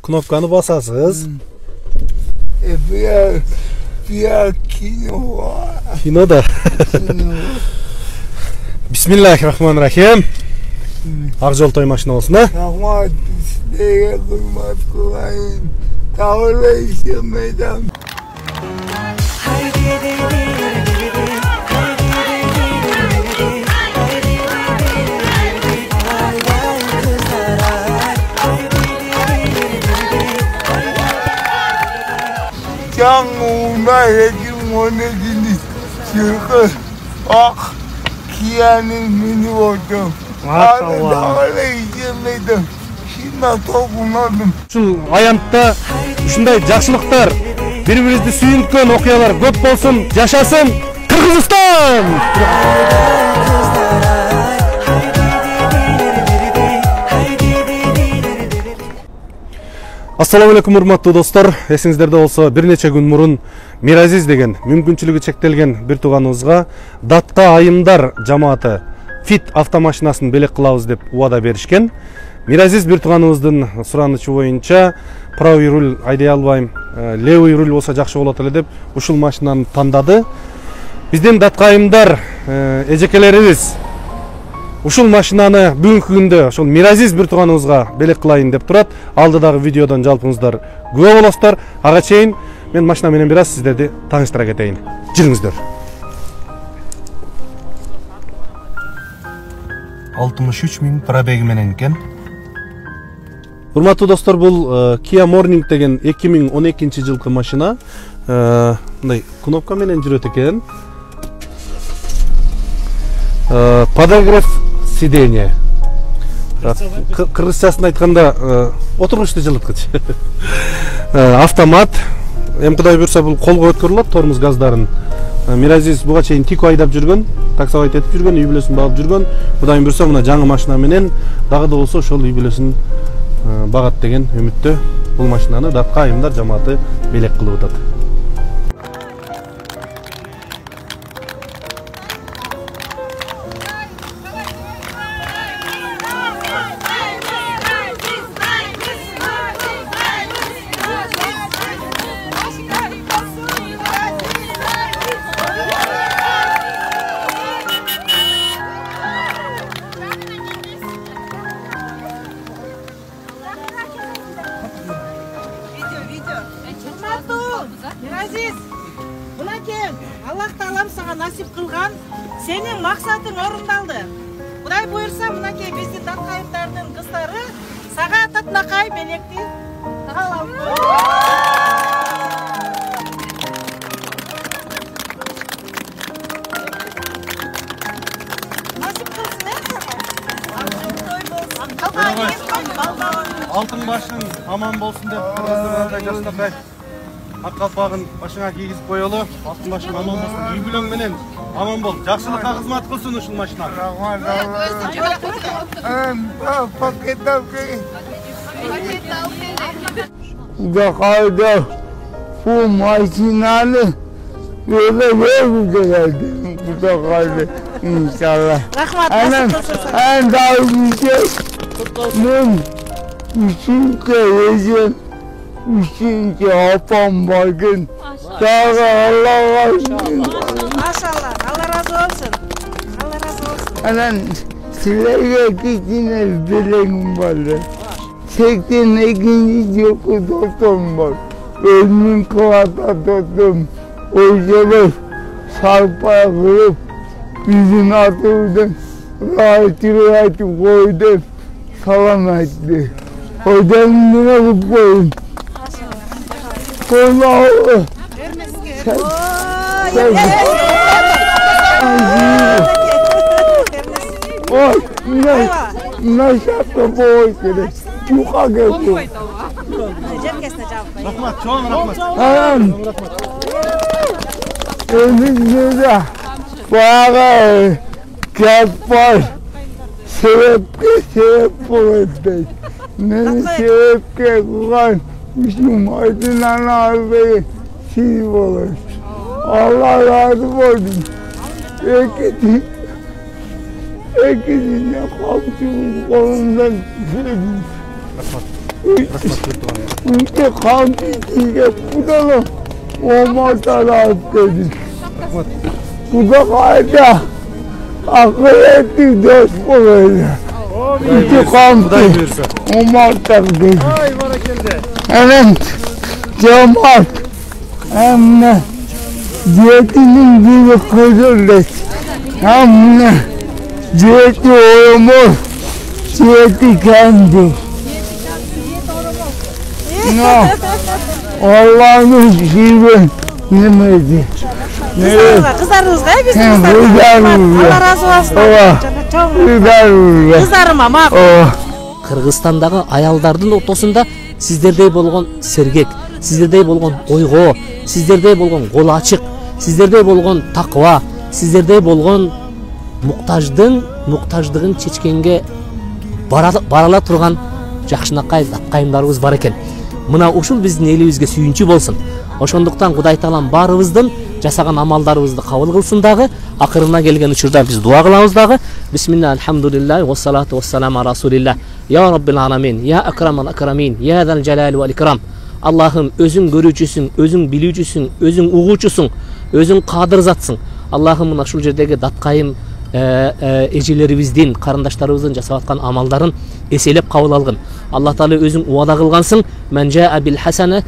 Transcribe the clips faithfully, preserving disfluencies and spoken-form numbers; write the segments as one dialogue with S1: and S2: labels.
S1: кнопканы басасыз.
S2: Бия бия кино.
S1: Кинода. Бисмиллахир-рахманир-рахим. Ак жол той машина болсун, а?
S2: Рахмат, сизге курмат кылайын. Тавлайсың мейдан. Жаңуна едім оны дені жүргі ақ кияның мені отырым.
S1: Машалла.
S2: Тавлай жемейдім. Шина тоғынадым.
S1: Ушул аянтта ушундай жакшылыктар, бири-бирибизди сүйүнткөн окуялар көп болсун. Жашасын Кыргызстан! Ассаламу алейкум, урматтуу достор. Эсиңиздерде болсо, бир нече күн мурун Миразиз деген мүмкүнчүлүгү чектелген бир тууганыбызга Датка айымдар жамааты Fit автомашинасын белек кылабыз деп убада беришкен. Миразиз бир тууганыбыздын суранычы боюнча правый руль айдай албайм, левый руль болсо жакшы болот эле деп ушул машинаны тандады. Биздин Датка айымдар эжекелерибиз ушул машинаны бүгүнкү күндө ошол Миразиз бир тууганыбызга белек кылайын деп турат. Алдыдагы видеодон жалпыңыздар күбө болосуздар. Ага чейин мен машина менен бир аз сиздерди тааныштыра кетейин. Жүрүңүздөр. алтымыш үч миң пробеги менен экен. Урматтуу достор, бул Kia Morning деген эки миң он экинчи жылкы машина. Мындай кнопка менен жүрөт экен. Подогрев сиденье. Кыргызчасын айтканда отургучту жылыткыч. Автомат. Эми Кудай буйрса бул колго өткөрүлөт тормоз газдарын. Миразиз буга чейин Тико айдап жүргөн, таксовайт этип жүргөн, үй бүлөсүн багып жүргөн. Кудай буйрса мына жаңы машина менен дагы да болсо ошол үй бүлөсүн багат деген үмүттө бул машинаны Датка айымдар жамааты белек кылып атат.
S3: Миразиз, мынакей, Аллах Таалам сага насип кылган, сенин максатың орундалды. Кудай буйрса, мынакей биздин Датка айымдардын кыздары сага татынакай белекти тагалам. Насип кылсын, э?
S1: Алтын башың аман болсун деп Кыргызстанда жаштакай ак калпагын башыңа кийгизип коелу. Алтын башың аман болсун, үй бүлөң менен аман бол. Жакшылыкка кызмат кылсын ушул машина.
S2: Рахмат, рахмат. Пакет алып келин. Кудайга бул машинаны өзү берди. Кудайга иншалла.
S3: Рахмат.
S2: Анан андагы мен üçüncü özüm, üçüncü apam bakın. Daha Allah aşkına.
S3: Maşallah, Allah razı olsun. Allah razı olsun.
S2: Anan silahı kitine dileğim vardı. Sekten ikinci yoku doktorum var. Ölümün kıvata tuttum. O yüzden sarpaya kırıp yüzün atıldım. Rahatı rahatı koydum. Salam etti. Hocam yine kutlayın. Allah'ım. Sen, sen. Oy, ne, ne şapta boy kere. Yuka geldi.
S1: Rahmat, çoğun rahmat.
S2: Anam. Önümüzde bayağı kağıt var. Sebepke sebep olacak. Ne sebepke kuran bizim aydınlan ağabey siz olacak. Allah razı olsun. Ekidi, ekidine komşumuz kolundan sevdim. İntikam içinde bulalım. Olmaz taraf dedi. Bu da kayda. Akıl ettik dost böyle. İntikam
S1: Kuday buyursa.
S2: olmaz taraf dedi.
S1: Ay barakelde.
S2: Evet. Cemaat. Hem de diyetinin gibi kızıldık. Hem de diyeti olmaz. Diyeti kendi. Ne? Allah'ın gibi yemedi.
S3: Kızlarınızga bizim
S2: He, kızlarımızga.
S3: Allah razı olsun.
S2: Ova. Güzel.
S3: Kızlarıma makul.
S2: Ova.
S4: Кыргызстандагы аялдардын ортосунда сиздердей болгон сергек, сиздердей болгон ойгоо, сиздердей болгон кол ачык, сиздердей болгон такыба, сиздердей болгон муктаждын муктаждыгын чечкенге барала турган жакшынакай даттайымдарыбыз бар экен. Мына ушул биздин элибизге сүйүнчү болсун. Ошондуктан Кудай Таалам баарыбыздын жасаган амалдарыбызды кабыл кылсын дагы. Акырына келген учурда биз дуа кылабыз дагы. Бисмилlah, алхамдулиллах, ва салату ва саламу ала расулилlah. Я Rabbil аламин, я Акрамал Акрамин, я Зал Жалали вал Икрам. Аллахым, өзүң көрүүчүсүң, өзүң билүүчүсүң, өзүң угуучусуң, өзүң кадыр затсың. Аллахым, мына ушул жердеги даттайым эжелерибиздин, карындаштарыбыздын жасап аткан амалдарын эселеп кабыл алгын. Аллах Таала өзүң уада кылгансың, мен жаа бил хасана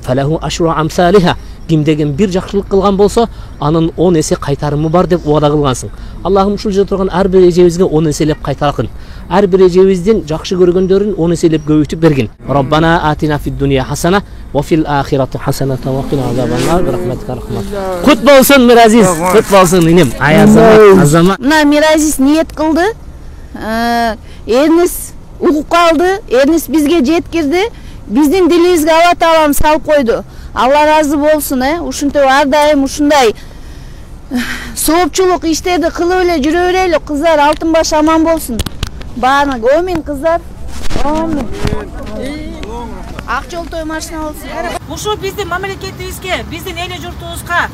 S4: фалаху ашру амсалиха. Кимдеген бир жакшылык кылган болсо, анын он эсе кайтарымы бар деп уада кылгансың. Аллахым, ушул жерде турган ар бир эжебизге он эселеп кайтаргын. Ар бир эжебиздин жакшы көргөндөрүн он эселеп көбөйтүп бергин. Роббана атина фид дунья хасана ва фил ахирати хасана ва кина азабаннар би рахматика рахмат. Кут болсун Миразиз, кут болсун инем. Аязама, азама.
S5: Мына Миразиз ниет кылды. Эрнис угуп калды, Эрнис бизге жеткирди. Биздин дилибизге Алла Таалам салып койду. Алла разы болсун, э. Ушинтип ар дайым ушундай соопчулук иштерди кылып эле жүрө берели. Кыздар алтын баш аман болсун. Баары омин кыздар. Омин. Ак жол той машина болсун.
S3: Ушул биздин мамлекетибизге, биздин эл журтубузга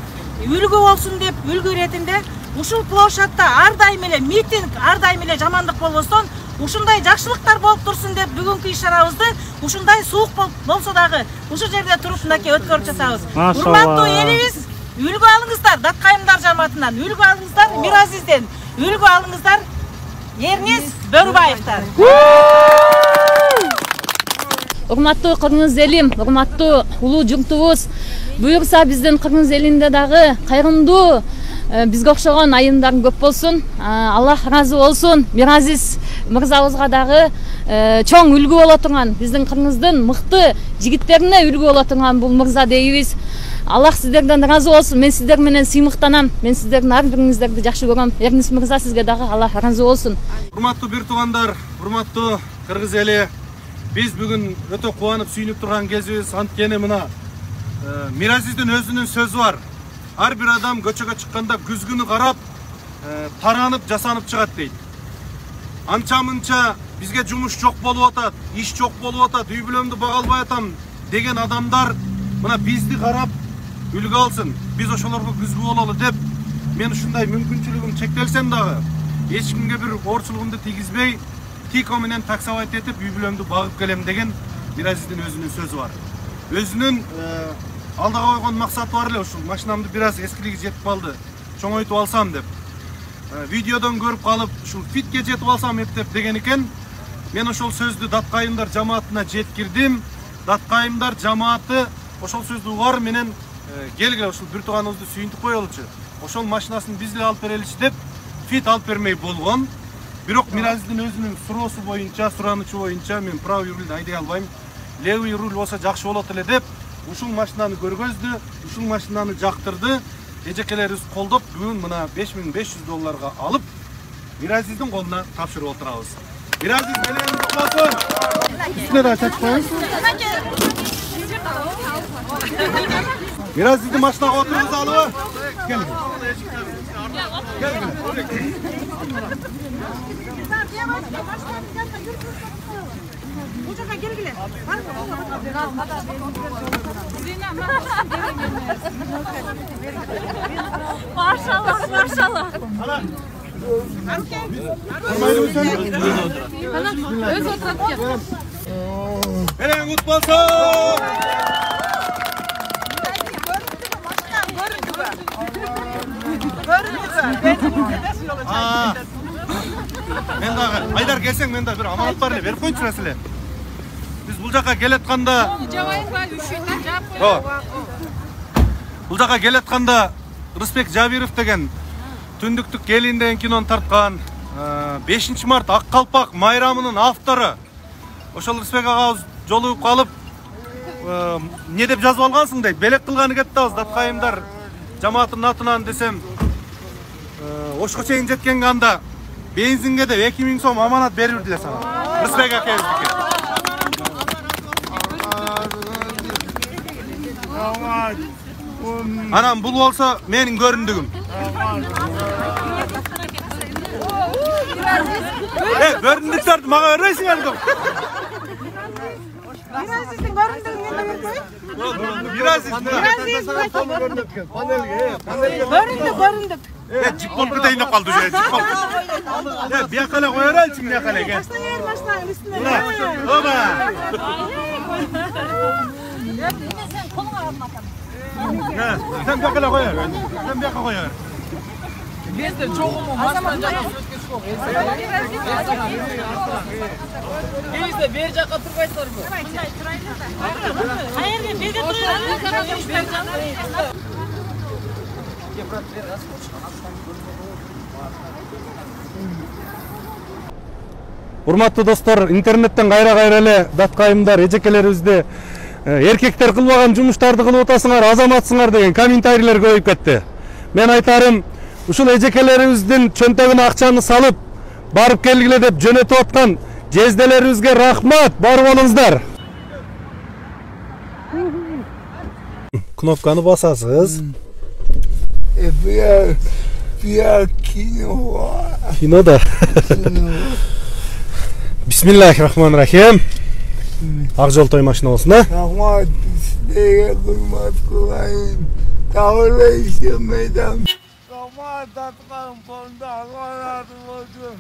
S3: үлгү болсун деп, үлгү иретинде ушул площадьта ар дайым эле митинг, ар дайым эле жамандык болбостон, ушундай жакшылыктар болуп турсун деп бүгүнкү иш-чарабызды ушундай суук болсо дагы ушул жерде туруп мынакей өткөрүп жатабыз. Урматтуу элибиз, үлгү алыңыздар, Даттайымдар жамаатынан үлгү алыңыздар, Миразизден үлгү алыңыздар, Эрнис Бөрүбаевтан.
S6: Урматтуу кыргыз элим, урматтуу улуу журтубуз, буюрса биздин кыргыз элинде дагы кайрымдуу бизге окшогон айымдар көп болсун. Аллах разы болсун. Миразиз мырзабызга дагы чоң үлгү боло турган, биздин кыргыздын мыкты жигиттерине үлгү боло турган бул мырза дейбиз. Аллах сиздерден разы болсун. Мен сиздер менен сыймыктанам. Мен сиздердин ар бириңиздерди жакшы көрөм. Эрнис мырза, сизге дагы Аллах разы болсун.
S1: Урматтуу бир туугандар, урматтуу кыргыз эли, биз бүгүн өтө кубанып сүйүнүп турган кезибиз. Анткени мына Миразиздин өзүнүн сөзү бар. Ар бир адам көчөгө чыкканда күзгүнү карап, таранып, жасанып чыгат дейт. Анча-мынча бизге жумуш жок болуп атат, иш жок болуп атат, үй бүлөмдү бага албай атам деген адамдар мына бизди карап үлгү алсын. Биз ошолорго күзгү бололу деп, мен ушундай мүмкүнчүлүгүм чектелсем дагы, эч кимге бир оорчулугумду тийгизбей, тико менен таксовать этип үй бүлөмдү багып келем деген Миразиздин өзүнүн сөзү бар. Өзүнүн алдыга койгон максаты бар эле, ушул машинамды бир аз эскилиги жетип калды, чоңойтуп алсам деп. Видеодон көрүп калып, ушул фитке жетип алсам эптеп деген экен. Мен ошол сөздү Даттайымдар жамаатына жеткирдим. Даттайымдар жамааты ошол сөздү угар менен келгиле ушул бир тууганыбызды сүйүнтүп коелучу. Ошол машинасын биз эле алып береличи деп фит алып бермей болгон. Бирок Миразиздин өзүнүн суроосу боюнча, суранычы боюнча мен правый рульду айдай албайм. Левый руль болсо жакшы болот эле деп ушул машинаны көргөздү, ушул машинаны жактырды. Эжекелерибиз колдоп, бүгүн мына беш миң беш жүз долларга алып, Миразиздин колуна тапшырып отурабыз. Миразиз менен болсун. Үстүнө да чачып коюңуз. Миразиздин машинага отургузалыбы? Кел. Кел.
S3: Ушуга келгиле.
S6: Машалла, машалла.
S1: Ала.
S6: Öz oturup gel.
S1: Берең кут болсун. Мен дагы Айдар келсең, мен дагы бир аманат бар эле, берип коюнчу эле. Биз бул жака келатканда жабайынга үшүнөн жаап коёбу. Бул жака келатканда Рысбек Жабиров деген Түндүктүк келин деген кинону тарткан, бешинчи март Ак калпак майрамынын автору. Ошол Рысбек агабыз жолугуп калып, не деп жазып алгансың дейт. Белек кылганы кетти абыз Даткайымдар жамаатынын атынан десем, Ошко чейин жеткенге анда бензинге деп эки миң сом аманат берип эле сага. Рысбек акебиздики. Анан бул болсо менин көрүндүгүм. Э, көрүндүктөрдү мага бербейсиңер ду.
S3: Миразиздин көрүндүгүн менде бербей.
S1: Миразиз.
S3: Көрүндүк, көрүндүк.
S1: Э, жип болуп кетейин деп калды же, жип болуп. Э, бияка эле кое береличи, бияка эле.
S3: Таштаңар машинанын үстүнө.
S1: Оба.
S3: Сен колуңа карматам.
S1: Sen bir akıllı koyar. Sen bir akıllı koyar.
S7: Bizde çoğumu maçtan canı söz çok. Bizde bir caka turbayslar bu.
S3: Hayır, bir de
S1: Урматтуу достор, интернеттен кайра-кайра эле Даткайымдар, эжекелерибизди эркектер кылбаган жумуштарды кылып атасыңар, азаматсыңар деген комментарийлер көбөйүп кетти. Мен айтарым, ушул эжекелерибиздин чөнтөгүнө акчаны салып, барып келгиле деп жөнөтүп аткан жезделерибизге рахмат, бар болуңуздар. Кнопканы басасыз.
S2: Бия, бия кино.
S1: Кино да. Бисмиллахиррахманиррахим. Ак жол той машина болсун, а?
S2: Рахмат, сизге курмат кылайын. Табылайсың, медам. Рахмат, Даткайым, фонда, Алла разы болсун.